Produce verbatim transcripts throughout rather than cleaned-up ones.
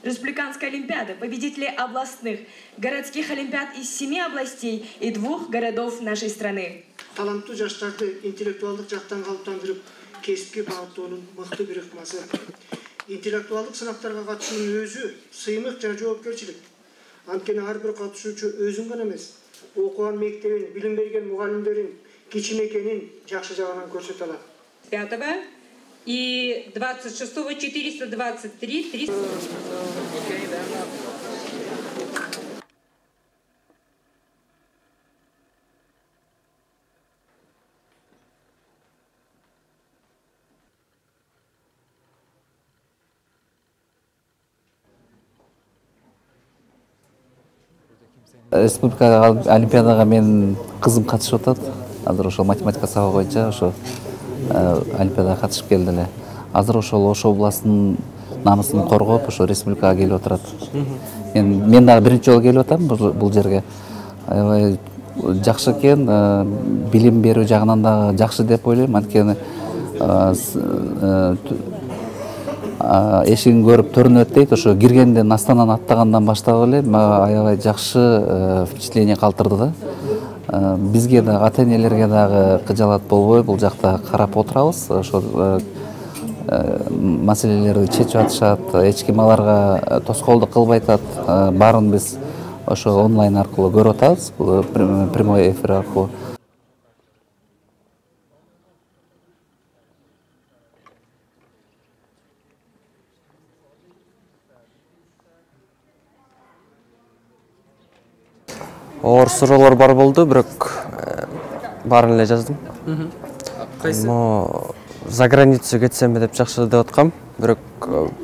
республиканской олимпиады, победители областных, городских олимпиад из семи областей и двух городов нашей страны. Таланттуу жаштарды интеллектуалдык жактан калыптандырып, кесипке багыттоонун мыкты бир ыкмасы. Интеллектуалдык сынактарга катышуунун өзү сыймык жана жоопкерчилик. Анткени ар бир катышуучу өзүн гана эмес, окуган мектебин, билим берген мугалимдерин, кичинекенин жакшы жагынан көрсөтө алат. пятого и двадцать шестого четыреста двадцать три триста. Республика олимпиадага менин кызым катышып атат. Азыр ошол математика сабагы боюнча ошо олимпиадага катышып келди эле. Азыр ошол Ош областынын намысын коргоп, ошо республикага келип отурат. Мен мен дагы биринчи жолу келип атам бул жерге. Аябай жакшы экен, билим берүү жагынан дагы жакшы деп ойлойм. Анткени эшигин көрүп төрүнөт дейт. Ошо киргенден астанан аттагандан баштап эле аябай жакшы впечатление калтырды да. Бизге да, ата-энелерге дагы кыжаалат болбой бул жакта карап отурабыз. Ошол маселелерди чечип атышат, эч ким аларга тоскоолдук кылбай атат. Баарын биз ошо онлайн аркылуу көрүп атабыз, прямой эфир аркылуу. Оор суроолор бар болду, бирок баарын эле жаздым. Кайсы? За границу кетсемби деп жакшы деп аткам. Бирок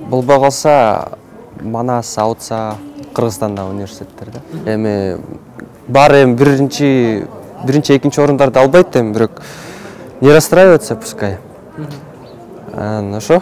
болбой калса Манас, Аутса, Кыргызстанда университеттерде. Эми баары эми биринчи, биринчи, экинчи орундарды албайт эми, бирок не расстраиваться пускай. Ну ошо.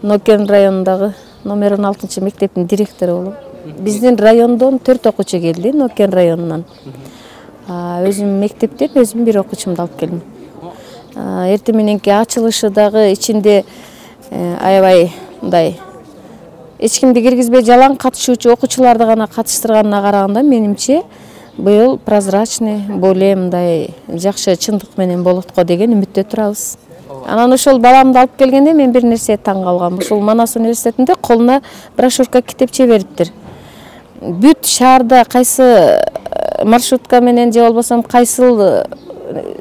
Нокен районундагы номер он алтынчы мектептин директору болом. Биздин райондон төрт окуучу келди, Нокен районунан. Өзүм мектептен өзүм бир окуучумду алып келдим. Эртең мененки ачылышы дагы ичинде аябай мындай эч кимди киргизбей жалаң катышуучу окуучуларды гана катыштырганына караганда менимче быйыл прозрачный, более мындай жакшы чындык менен болот го деген үмүттө турабыз. Анан ошол баламды алып келгенде мен бир нерсе таң калгам. Ушул Манас университетинде колуна брошюрка китепче бериптир. Бүт шаарда кайсы маршрутка менен же болбосо кайсыл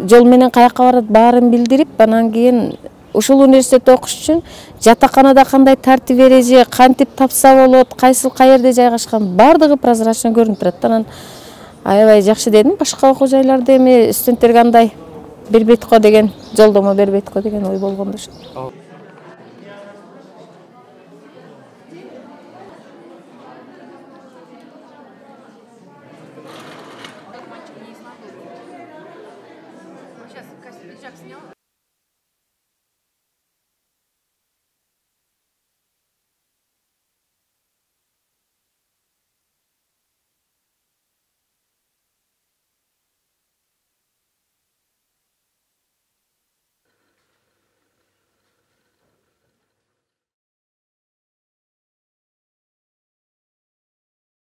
жол менен каяка барат баарын билдирип, анан кийин ушул университетте окуш үчүн жатаканада кандай тартип эреже, кантип тапса болот, кайсыл каерде жайгашкан бардыгы прозрачно көрүнүп турат. Анан аябай жакшы дедим. Башка окуу жайларда эми студенттерге андай бербейт го деген, жолдомо бербейт го деген ой болгондо ошо.